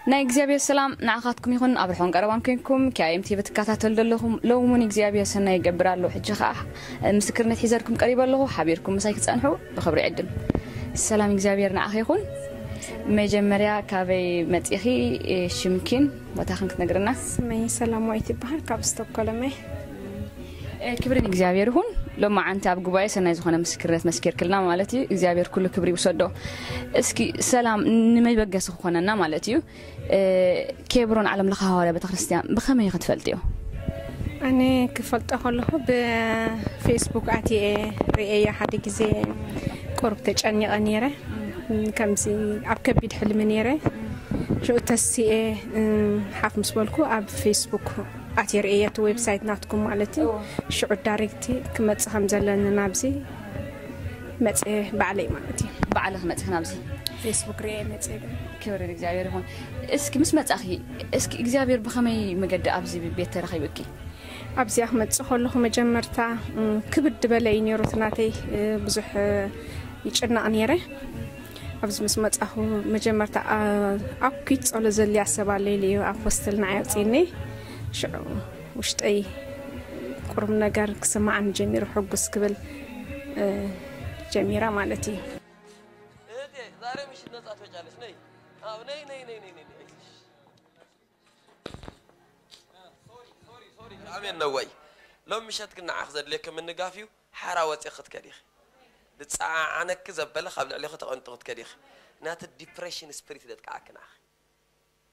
ናይ እግዚኣብሔር ሰላም ንዓኻትኩም ይኹን። ኣብ ርሑቕን ቀረባን ኮንኩም ኪኣኤም ቲቪ ትከታተሉ ዘለኹም፣ ሎሚ እውን እግዚኣብሔር ሰናይ ይገብር ኣሎ። ሕጂ ኸዓ ምስክርነት ሒዘልኩም ቀሪበ ኣለኹ። ሓቢርኩም ምሳይ ክትጸንሑ ብኽብሪ ዕድም። ሰላም እግዚኣብሔር ንዓኺ ይኹን። መጀመርያ ካበይ መጺኺ፣ ሽምኪን ቦታኽን ክትነግርና? ስመይ ሰላማዊት ይበሃል፣ ካብ ስቶኮልም እየ። ክብሪ ንእግዚኣብሔር ይኹን። ሎማዓንቲ ኣብ ጉባኤ ሰናይ ዝኾነ ምስክርነት መስኪርክልና ማለት እዩ። እግዚኣብሔር ኩሉ ክብሪ ይውሰዶ። እስኪ ሰላም ንመበገሲ ክኾነና ማለት እዩ። ኬብሮን ዓለም ለኸ ሃዋርያ ቤተክርስትያን ብኸመይ ክትፈልጥዮ? ኣነ ክፈልጦ ከለኹ ብፌስቡክ ኣትየ ርእየ ሓደ ግዜ ቁሩብ ተጨኒቐ ነይረ። ከምዚ ኣብ ከቢድ ሕልሚ ነይረ። ሽዑ ተሲኤ ሓፍ ምስ በልኩ ኣብ ፌስቡክ ኣትየ ርእየ እቲ ዌብሳይት ናትኩም ማለት እዩ። ሽዑ ዳይሬክት ክመጽእ ከም ዘለኒ ናብዚ መጽእ ባዕለይ ማለት እዩ። ባዕልኺ መጺኺ ናብዚ? ፌስቡክ ርእየ መጽእ። ክብሪ ንእግዚኣብሔር ይኹን። እስኪ ምስ መጻኺ፣ እስኪ እግዚኣብሔር ብኸመይ መገዲ ኣብዚ ቤት ተረኺብኪ? ኣብዚኣ ክመጽእ ከለኹ መጀመርታ ክብድ በለ እዩ ነይሩ እቲ ናተይ። ብዙሕ ይጭነቕ ነይረ። ኣብዚ ምስ መጻኹ መጀመርታ ኣኩት ጸሎት ዘድልያ ሰብ ኣለ ኢሉ እዩ ኣፖስትል ንዓይ ኣውጺእኒ። ሽዑ ውሽጠይ ቁሩብ ነገር ክስምዓኒ ጀሚሩ፣ ሕጉስ ክብል ጀሚረ ማለት እዩ። እህቴ ዛሬ ምሽት ነጻ ትወጫለሽ። ነይ። አዎ ነይ ነይ ነይ ነይ ነይ። ነይ። ሶሪ ሶሪ ሶሪ። ኣሜን ነው ወይ? ሎም ምሸት ግን ንዓኽ ዘድልየኪ ምንጋፍ እዩ። ሓራ ወፂኺ ክትከዲ ኢኺ። ዝፀዓዓነኪ ዘበለ ካብ ልዕሊኺ ተቐንጡ ክትከዲ ኢኺ። ናቲ ዲፕሬሽን ስፒሪት ደጥቅዓኪ ንዓኺ።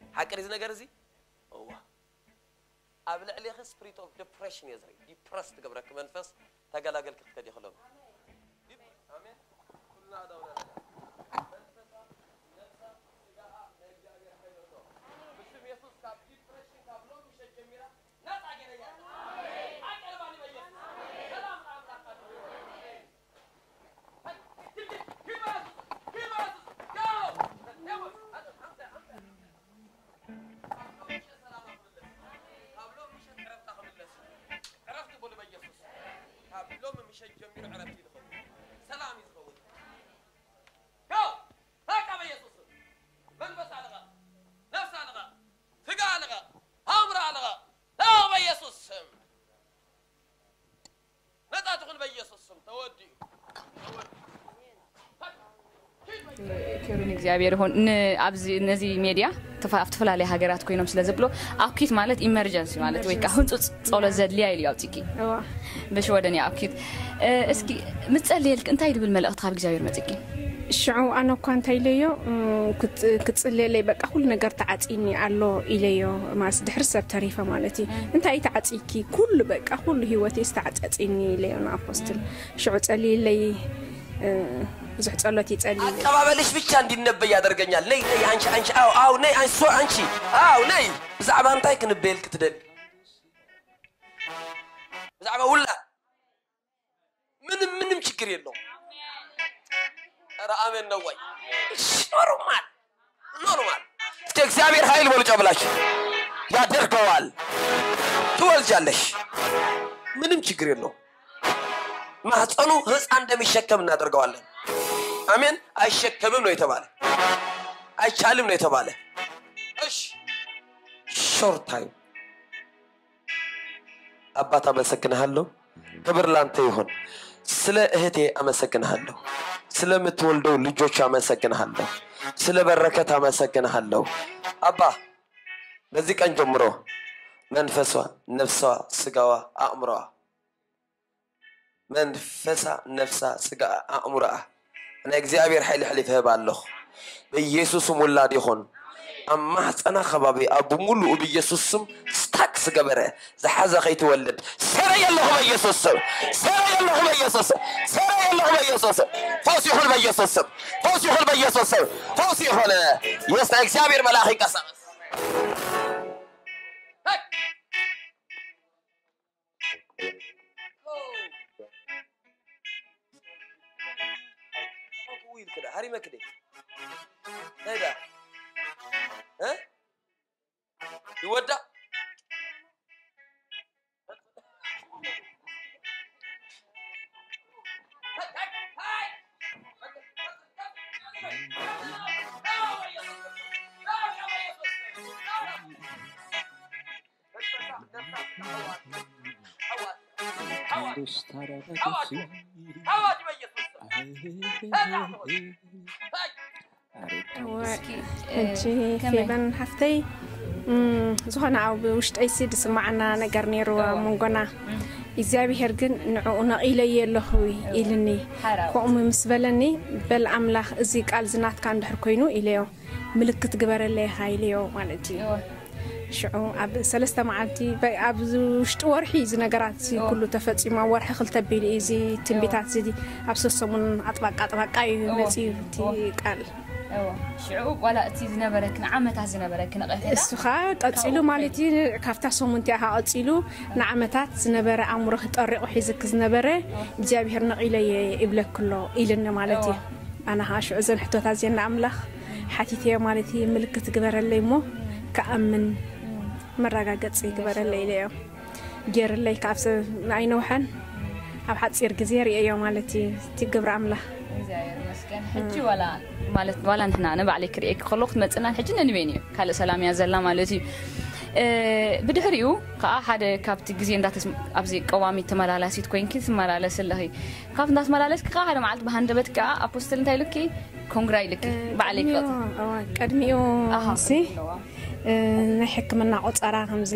ሓቂ ድዩ እዚ ነገር እዚ? እዋ። ኣብ ልዕሊኺ ስፕሪት ኦፍ ዲፕሬሽን እየ ዝርኢ። ዲፕረስ ትገብረኪ መንፈስ ተገላገልኪ ክትከዲ ከሎ። ኣሜን። ኩልና ኣዳውና ነጋ። መንፈሳ፣ ነፍሳ፣ ስጋኣ ናይ እግዚኣብሔር ሓይሊ ኣሎ። ብስም የሱስ ካብ ዲፕሬሽን ካብ ሎሚ ምሸት ጀሚራ ነጻ ገይረያ። ኣሜን። ኣቀርባኒ በየሱስ። ሰላም ለኣምላካችሁ ይሁን። ነጻ ትኹን በኢየሱስ ስም ተወዲኡ። ክብሪ ንእግዚኣብሔር ይኹን። ን- ኣብዚ ነዚ ሜድያ ተፋ- ኣብ ዝተፈላለዩ ሃገራት ኮይኖም ስለ ዘብሎ ኣኩት ማለት ኢመርጀንሲ ማለት ወይ ከዓ ህንፁፅ ፀሎት ዘድልያ ኢሉ ኣውፂኪ። እዋ ብሽወደን እያ ኣኩት። እ፣ እስኪ ምፀልየልክ እንታይ ድብል መልእኽቲ ካብ እግዚኣብሔር መፅኪ? ሽዑ ኣነ እኳ እንታይ ኢለዮ እ፣ ክፅ- ክፅልየለይ በቃ ኩሉ ነገር ተዓፂኒ ኣሎ ኢለዮ። ማስ ድሕሪ ሰብ ተሪፈ ማለት እዩ። እንታይ ተዓፂኪ? ኩሉ በቃ ኩሉ ህይወተይ ዝተዓፃፂኒ ኢለዮ ንኣፖስትል። ሽዑ ጸልይለይ እ፣ ብዙሕ ጸሎት ይጸልይ። አቀባበልሽ ብቻ እንዲነበይ ያደርገኛል። ነይ ነይ አንቺ አንቺ አው አው ነይ አንቺ ሶ አንቺ አው ነይ። ብዛዕባ እንታይ ክንበየል ክትደል? ብዛዕባ ውላ ምንም ምንም ችግር የለውም። ኧረ አሜን ነው ወይ? ኖርማል ኖርማል። እስከ እግዚአብሔር ኃይል በሉ ጨብላችሁ ያደርገዋል። ትወልጃለሽ። ምንም ችግር የለውም። ማህፀኑ ህፃን እንደሚሸከም እናደርገዋለን። አሜን። አይሸከምም ነው የተባለ፣ አይቻልም ነው የተባለ። እሺ ሾርት ታይም። አባት አመሰግንሃለሁ። ክብር ላንተ ይሁን። ስለ እህቴ አመሰግንሃለሁ። ስለምትወልደው ልጆች አመሰግንሃለሁ። ስለ በረከት አመሰግንሃለሁ። አባ በዚህ ቀን ጀምሮ መንፈሷ፣ ነፍሷ፣ ስጋዋ፣ አእምሮዋ መንፈሳ፣ ነፍሳ፣ ስጋኣ፣ ኣእምሮኣ ናይ እግዚኣብሔር ሓይሊ ኣሕሊፈ እህባ ኣለኹ። በኢየሱስ ስም ውላድ ይኹን። ኣብ ማህፀና ከባቢ ኣብ ብምሉኡ ብኢየሱስ ስም ስታክ ዝገበረ ዝሓዘ ከይትወልድ ሰረየ ኣለኹ በኢየሱስ ስም። ሰረየ ኣለኹ በኢየሱስ ስም። ሰረየ ኣለኹ በኢየሱስ ስም። ፈውስ ይኹን በኢየሱስ ስም። ፈውስ ይኹን በኢየሱስ ስም። ፈውስ ይኹን። የስ ናይ እግዚኣብሔር መልኣኽ ይንቀሳቐስ። ኢልክዳ ሃሪመክደ እንታይ ዳ እ ይወዳ ሕጂ ፌበን ሓፍተይ፣ ዝኾነ ኣብ ውሽጠይሲ ዝስማዓና ነገር ነይሩ ኣብ መንጎና። እግዚኣብሄር ግን ንዕኡ ነቒለየ ኣለኹ ኢልኒ። ከምኡ ምስ በለኒ፣ በል ኣምላኽ፣ እዚ ቃል ዝናትካ እንድሕር ኮይኑ ኢለዮ፣ ምልክት ግበረለይ ኢኻ ኢለዮ ማለት እዩ። ሽዑ ኣብ ሰለስተ መዓልቲ፣ ኣብ ውሽጢ ወርሒ እዚ ነገራት ኩሉ ተፈጺሙ፣ ኣብ ወርሒ ክልተ ኣቢሉ እዩ እዚ ትንቢታት እዚ ኣብ ሰሰሙን ኣጥባቃ ኣጥባቃ እዩ መጺኡ እቲ ቃል። ሽዑ ዋላ እቲ ዝነበረኪ ንዓመታት ዝነበረኪ ነቐፌታ እሱ ኸዓ ቀጺሉ ማለት እዩ። ካብታ ሰሙን እቲኣ ኸዓ ቀጺሉ ንዓመታት ዝነበረ ኣእምሮኺ ጠሪቑ ሒዝኪ ዝነበረ እግዚኣብሄር ነቒለየ ይብለኪ ኣሎ ኢልኒ ማለት እዩ። ኣነ ኸዓ ሽዑ እዘን ሕቶታት እዚአን ንኣምላኽ ሓቲተዮ ማለት እዩ። ምልክት ግበረለይ እሞ ክኣምን መረጋገጺ ግበረለይ ኢለዮ። ገይርለይ ካብ ሰብ ኣይነውሐን ኣብ ሓፂር ግዜ ርእየዮ ማለት እዩ እቲ ግብሪ ኣምላኽ። እግዚኣብሔር ይመስገን። ሕጂ ዋላ ማለት ዋላ ንሕና ኣነ ባዕለይ ክርእየኪ ከለኹ ትመፅእናን ሕጂ ነንበይን እዩ ካልእ ሰላም እያ ዘላ ማለት እዩ። ብድሕሪኡ ከዓ ሓደ ካብቲ ግዜ እንዳተስ ኣብዚ ቀዋሚት ተመላላሲት ኮይንኪ ትመላለስ ኣለኺ። ካብ እንዳተመላለስኪ ከዓ ሓደ መዓልቲ ብሃንደበት ከዓ ኣፖስትል እንታይ ኢሉኪ ኮንግራ ኢልኪ ባዕለይ ክቐጽ ቀድሚኡ ሲ ናይ ሕክምና ቆፀራ ከምዚ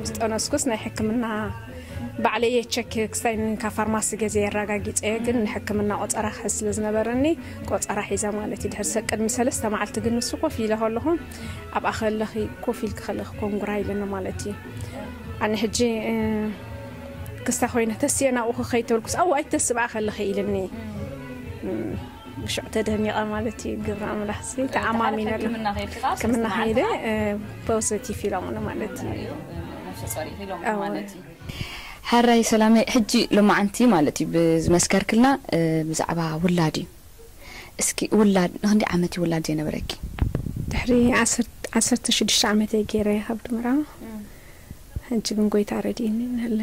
ዝጠነስኩስ ናይ ሕክምና ባዕለየ ቸክ ክስታይ ካብ ፋርማሲ ገዜ የረጋጊፀ ግን ንሕክምና ቆፀራ ክሕዝ ስለ ዝነበረኒ ቆፀራ ሒዛ ማለት እዩ። ድሕሪ ሰ ቅድሚ ሰለስተ መዓልቲ ግን ንሱ ኮፍ ኢለ ከለኹ ኣብኣ ከለኺ ኮፍ ኢልኪ ከለኺ ኮንጉራ ኢለኒ ማለት እዩ። ኣነ ሕጂ ክስታ ኮይነ ተስየ ናብኡ ክኸይድ ተብልኩስ ኣዋ ኣይትተስብኣ ከለኺ ኢልኒ። ብሽዑ ተደኒቐ ማለት እዩ። ግብሪ ኣምላኽ ሲ ተኣማሚነሉ ሕክምና ከይደ ፖዘቲቭ ኢሎምኒ ማለት እዩ። ሕራይ ሰላመይ ሕጂ ሎማዓንቲ ማለት እዩ ብዝመስከርክልና ብዛዕባ ውላድ እዩ። እስኪ ውላድ ንክንደይ ዓመት እዩ ውላድ ዘይነበረኪ? ድሕሪ ዓሰርተ ሽዱሽተ ዓመተይ ገይረ ካብ ድምራ ሕጂ ግን ጎይታ ረድእኒ ንለ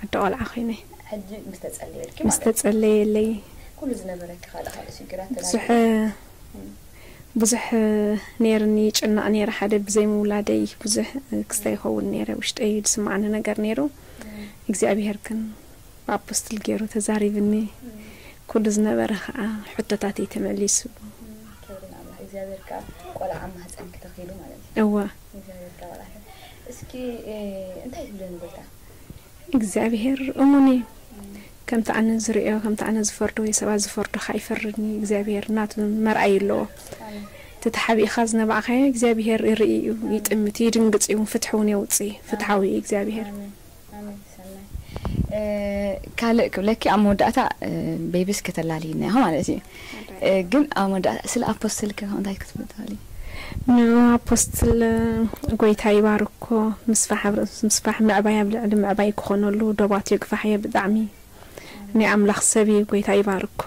ኣደ ቆልዓ ኮይነ ሕጂ ምስ ተጸለየልኪ ምስ ማለት ተጸለየለይ ኩሉ ዝነበረኪ ካልእ ካልእ ሽግራት ብዙሕ ብዙሕ ነይርኒ ይጭነቕ ነይረ ሓደ ብዘይ ምውላደይ ብዙሕ ክስታይ ይኸውን ነይረ ውሽጠይ ዝስማዓኒ ነገር ነይሩ እግዚኣብሔር ግን ብኣፖስትል ገይሩ ተዛሪብኒ ኩሉ ዝነበረ ከዓ ሕቶታተይ ተመሊሱ ክብሪ ንኣምላኽ እግዚኣብሔር ከዓ ቆልዓ ኣብ ማህፀንኪ ተኺሉ ማለት እዩ እዋ እግዚኣብሔር ከዓ ቆልዓ እስኪ እንታይ ትብለኒ ጎይታ እግዚኣብሔር እሙን እዩ ከምቲ ኣነ ዝርእዮ ከምቲ ኣነ ዝፈርዶ ወይ ሰባት ዝፈርዶ ከይፈርድኒ እግዚኣብሔር ናቱ መርኣይ ኣለዎ እቲ ተሓቢእኻ ዝነባዕካዮ እግዚኣብሔር ይርኢ እዩ ይጥምት ይድንግፅ እዩ ፍትሒ እውን የውፅእ ፍትሓዊ እዩ እግዚኣብሔር ካልእ ክብለኪ ኣብ መወዳእታ ቤብስ ከተላልይና ኢኹ ማለት እዩ ግን ኣብ መወዳእታ ስለ ኣፖስትል ከ እንታይ ክትብል ትኽእሊ ንኣፖስትል ጎይታ ይባርኮ ምስፋሕ ኣብ ርእሲ ምስፋሕ ምዕባይ ኣብ ልዕሊ ምዕባይ ክኾነሉ ደባቱ የግፋሕዮ ብጣዕሚ ናይ ኣምላኽ ሰብ እዩ ጎይታ ይባርኮ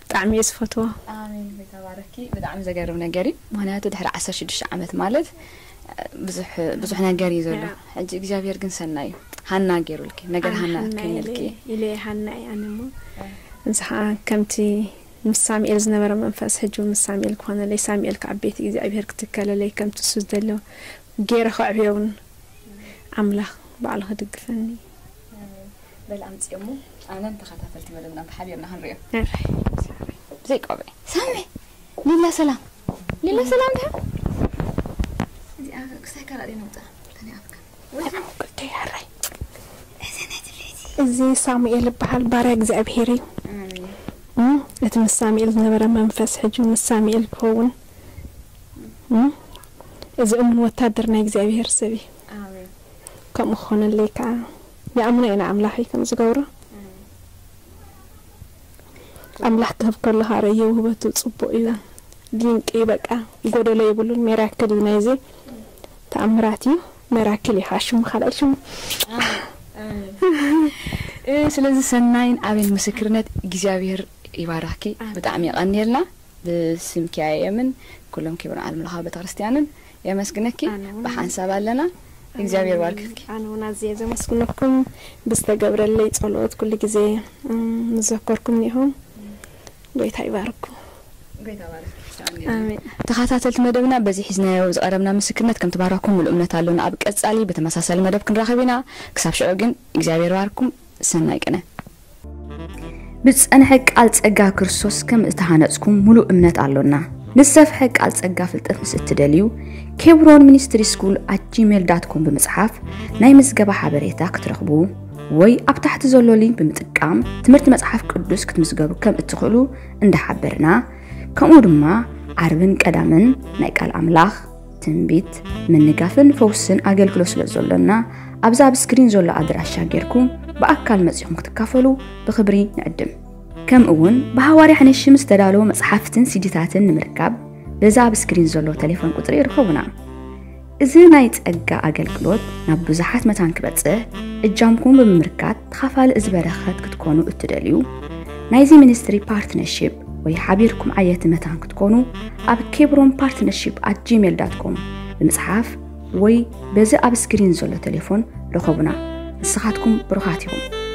ብጣዕሚ እየ ዝፈትዎ ኣሜን ጎይታ ባረኪ ብጣዕሚ ዘገርም ነገር እዩ ምክንያቱ ድሕሪ ዓሰርተ ሽዱሽተ ዓመት ማለት ብዙሕ ነገር እዩ ዘሎ ሕጂ እግዚኣብሔር ግን ሰናይ እዩ ሃና ገይሩልኪ ነገር ሃና ከይነልኪ ኢለ ሃና እየ ኣነ እሞ እንስኻ ከምቲ ምስ ሳሙኤል ዝነበረ መንፈስ ሕጂ ምስ ሳሙኤል ክኾነለይ ሳሙኤል ከዓ ቤት እግዚኣብሔር ክትከለለይ ከምቲ እሱ ዝደሎ ገይረ ከዕብዮ እውን ኣምላኽ ባዕሉ ክድግፈኒ በል ኣምፅኦሞ ኣነን ተኸታተልቲ መደብና ብሓቢርና ክንሪኦ ብዘይ ቆብዒ ሳሚ ሊላ ሰላም ሊላ ሰላም ድያ እዚኣ ክሳይ ካራ ደይ ነውፅኣ ተኒኣፍካ እዚ ሳሙኤል ይበሃል ባርያ እግዚኣብሄር እዩ እቲ ምስ ሳሙኤል ዝነበረ መንፈስ ሕጂ ምስ ሳሙኤል ክኸውን እዚ እሙን ወታደር ናይ እግዚኣብሄር ሰብ እዩ ከምኡ ክኾነለይ ከዓ ይኣምኖ እየ ንኣምላኸይ ከም ዝገብሮ ኣምላኽ ክህብ ከሎ ከዓ ረእዮ ውህበቱ ፅቡቅ እዩ ድንቂ እዩ በቃ ጎደሎ የብሉን ሜራክል እዩ ናይዚ ተኣምራት እዩ ሜራክል እዩ ከዓ ሽሙ ካልኣይ ሽሙ ስለዚ ሰናይን ኣበይን ምስክርነት እግዚኣብሔር ይባርኽኪ ብጣዕሚ የቐንየልና ብስምኪ ኣየምን ኩሎም ኪብርን ዓለም ለኻዊ ቤተክርስትያንን የመስግነኪ ብሓንሳብ ኣለና እግዚኣብሔር ባርክኪ ኣነ እውን ኣዝየ ዘመስግነኩም ብዝተገብረለይ ጸሎት ኩሉ ግዜ ምዘከርኩም ኒኹም ጎይታ ይባርኩም ተኸታተልቲ መደብና በዚ ሒዝናዮ ዝቐረብና ምስክርነት ከም ትባረኩም ሙሉ እምነት ኣሎና ኣብ ቀጻሊ ብተመሳሳሊ መደብ ክንራኸብ ኢና ክሳብ ሽዑ ግን እግዚኣብሔር ባርኩም ሰናይ ቅነ። ብዝጸንሐ ቃል ጸጋ ክርስቶስ ከም እተሃነጽኩም ምሉእ እምነት ኣሎና። ንዝሰፍሐ ቃል ጸጋ ፍልጠት ምስ እትደልዩ፣ ኬብሮን ሚኒስትሪ ስኩል ኣት ጂሜል ዳት ኮም ብምጽሓፍ ናይ ምዝገባ ሓበሬታ ክትረኽቡ ወይ ኣብ ታሕቲ ዘሎ ሊንክ ብምጥቃም ትምህርቲ መጽሓፍ ቅዱስ ክትምዝገቡ ከም እትኽእሉ እንዳሓበርና፣ ከምኡ ድማ ዓርብን ቀዳምን ናይ ቃል ኣምላኽ ትንቢት፣ ምንጋፍን ፈውስን ኣገልግሎት ስለ ዘሎና፣ ኣብዚ ኣብ ስክሪን ዘሎ ኣድራሻ ጌርኩም ብኣካል መጺኹም ክትካፈሉ ብኽብሪ ንዕድም። ከምኡ እውን ብሃዋርያ ሕነሽም ዝተዳለወ መጽሓፍትን ሲዲታትን ንምርካብ በዛ ኣብ ስክሪን ዘሎ ቴሌፎን ቁጽሪ ይርከቡና። እዚ ናይ ጸጋ ኣገልግሎት ናብ ብዙሓት መታን ክበጽሕ እጃምኩም ብምምርካት ተኻፋሊ እዚ በረኸት ክትኮኑ እትደልዩ፣ ናይዚ ሚኒስትሪ ፓርትነርሺፕ ወይ ሓቢርኩም ዓየቲ መታን ክትኮኑ ኣብ ኬብሮን ፓርትነርሺፕ ኣት ጂሜል ዳት ኮም ብምጽሓፍ ወይ በዚ ኣብ ስክሪን ዘሎ ቴሌፎን ርኸቡና። ንስኻትኩም ብሩኻት ኢኹም።